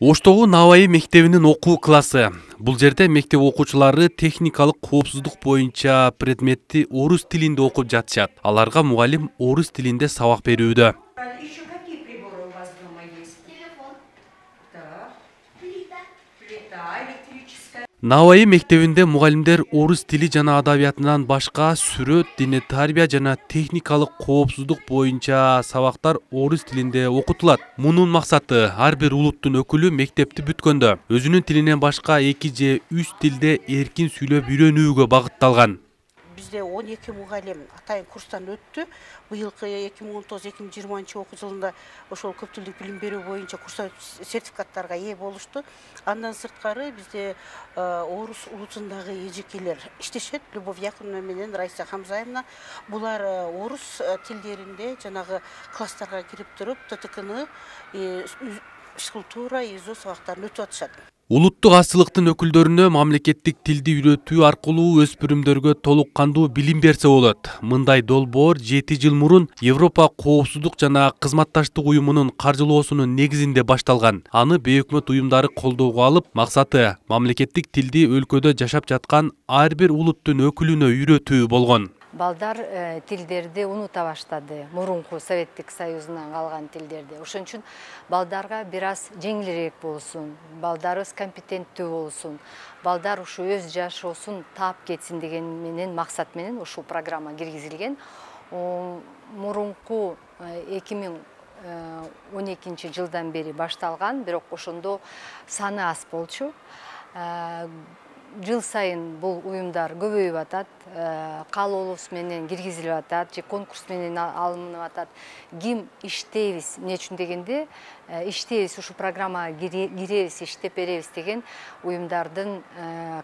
Оштогу Наваи мектебинин окуу классы. Бул жерде мектеп окуучулары техникалык коопсуздук боюнча предметти орус тилинде окуп жатышат. Аларга мугалим орус тилинде сабак берүүдө. Еще какие приборы у вас дома есть? Телефон. Так. Плита. Плита электрическая. Наваи мектебинде мугалимдер орус тили жана адабиятынан башка сүрөт, диний тарбия жана техникалык коопсуздук боюнча сабактар орус тилинде окутулат. Мунун максаты ар бир улуттун өкүлү мектепти бүткөндө өзүнүн тилинен башка 2 же 3 тилде эркин сүйлөп үйрөнүүгө багытталган. Bizde 12 mugallim atayın kurstan öttü. Bu yılki 2019-2020 okul yılında oşol köptüldük bilim berүү boyunca kursa sertifikatlarga ие болушту. Андан сырткары bizde орус улутундагы эжекелер иштешет. Любовь Яковлевна менен Раиса Хамзаевна. Булар орус тилдеринде жанагы класстарга кирип туруп ТТКны, физкультура, ИЗО сабактарын өтүп атышат. Улуттук азчылыктын өкүлдөрүнө мамлекеттик тилди үйрөтүү аркылуу өспүрүмдөргө толук кандуу билим берсе болот. Мындай долбоор 7 жыл мурун Европа коопсуздук жана кызматташтык уюмунун каржылоосунун негизинде башталган. Аны бейөкмөт уюмдары колдоого алып, максаты мамлекеттик тилди өлкөдө жашап жаткан ар бир улуттун өкүлүнө үйрөтүү болгон. Балдар тилдерди унута баштады. Мурунку Советтик Союзунан калган тилдерди. Ошон үчүн балдарга бир аз жеңилирээк болсун, балдарыбыз компетенттүү болсун, балдар ушу өз жашоосун таап кетсин деген менен максат менен ушул программа киргизилген. Мурунку 2012 жылдан бери башталган, бирок ошондо саны аз болчу. Жыл сайын бул уюмдар көбөйүп атат, каалоолубуз менен киргизилип атат, же конкурс менен алынып атат. Ким иштейбиз, эмне үчүн дегенде, иштейбиз, ушу программага киребиз, иштеп беребиз деген уюмдардын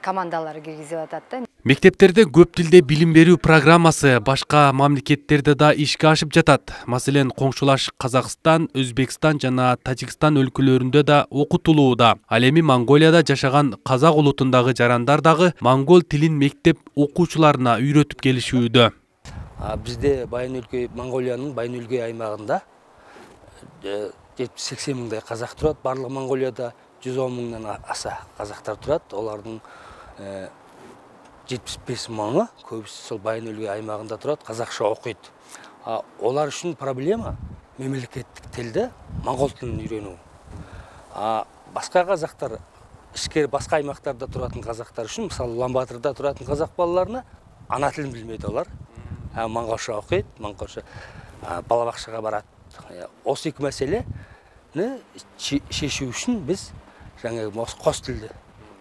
командалары киргизип атат да. Мектептерде көп тилде билим берүү программасы башка мамлекеттерде да ишке ашып жатат. Маселен, коңшулаш Казакстан, Өзбекстан жана Тажикстан өлкөлөрүндө да окутулууда. Ал эми Монголияда жашаган казак улутундагы жарандар дагы монгол тилин мектеп окуучуларына үйрөтүп келишүүдө. Бизде Байын-өлкөй, Монголиянын Байын-өлкөй аймагында 70-80 мыңдай казак турат. Барлык Монголияда 110 мыңдан аса казактар турат. Олардын 75 мыңы көбүсү сол Байын-өлкөй аймагында турат, казакша окуйт. Олар үчүн проблема мемлекеттик тилде монгол тилин үйрөнүү. Башка казактар, ишкер башка аймактарда туратын казактар үчүн, мисалы Улан-Батырда туратын казак балаларына ана тилин билбейт олар. Монголча окуйт, монголча бала бакчага барат. Осы эки маселени чечүү үчүн биз жаңы кос тилде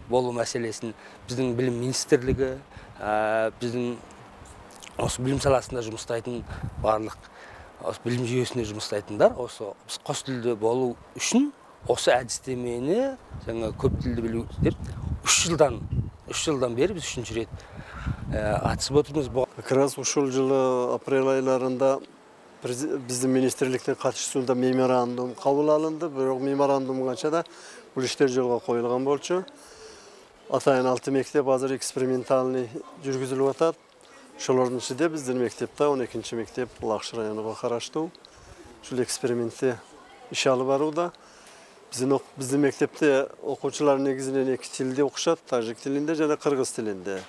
болуу маселесин биздин билим министрлиги, биздин осы билим саласында жумуштайтын барлык билим жүйөсүндө жумуштайтындар осы кос тилде болуу үчүн осы адистемени жаңы көп тилди билүү деп 3 жылдан бери биз 3-чү рет ачып отурбуз. Как раз ушул жылы апрель айларында биздин министрликтин катышуусунда меморандум кабыл алынды. Бирок меморандум канча да бул иштер жолго коюлган болчу. Атайын 6 мектеп азыр экспериментальный жүргүзүлүп атат. Ошолордун ичинде биздин мектепте 12-чи мектеп Лакшы районуга караштуу. Ушул экспериментте иш алып барууда. Биздин мектепте окуучулар негизинен 2 тилде окушат, тажик тилинде жана кыргыз тилинде.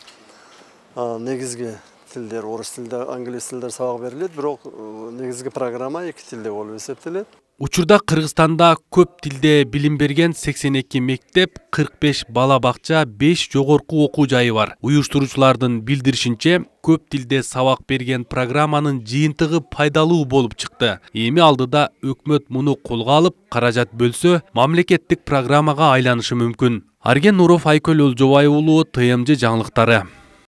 Негизги тилдер, орус тилинде, англис тилинде сабак берилет, бирок негизги программа 2 тилде болуп эсептелет. Учурда Кыргызстанда көп тилде билим берген 82 мектеп, 45 бала бакча, 5 жогорку окуу жайы бар. Уюштуруучулардын билдиришинче, көп тилде сабак берген программанын жыйынтыгы пайдалуу болуп чыкты. Эми алдыда өкмөт муну колго алып, каражат бөлсө, мамлекеттик программага айланышы мүмкүн. Арген Нуров, Айкөл Олжобай уулу, ТМЖ жаңылыктары.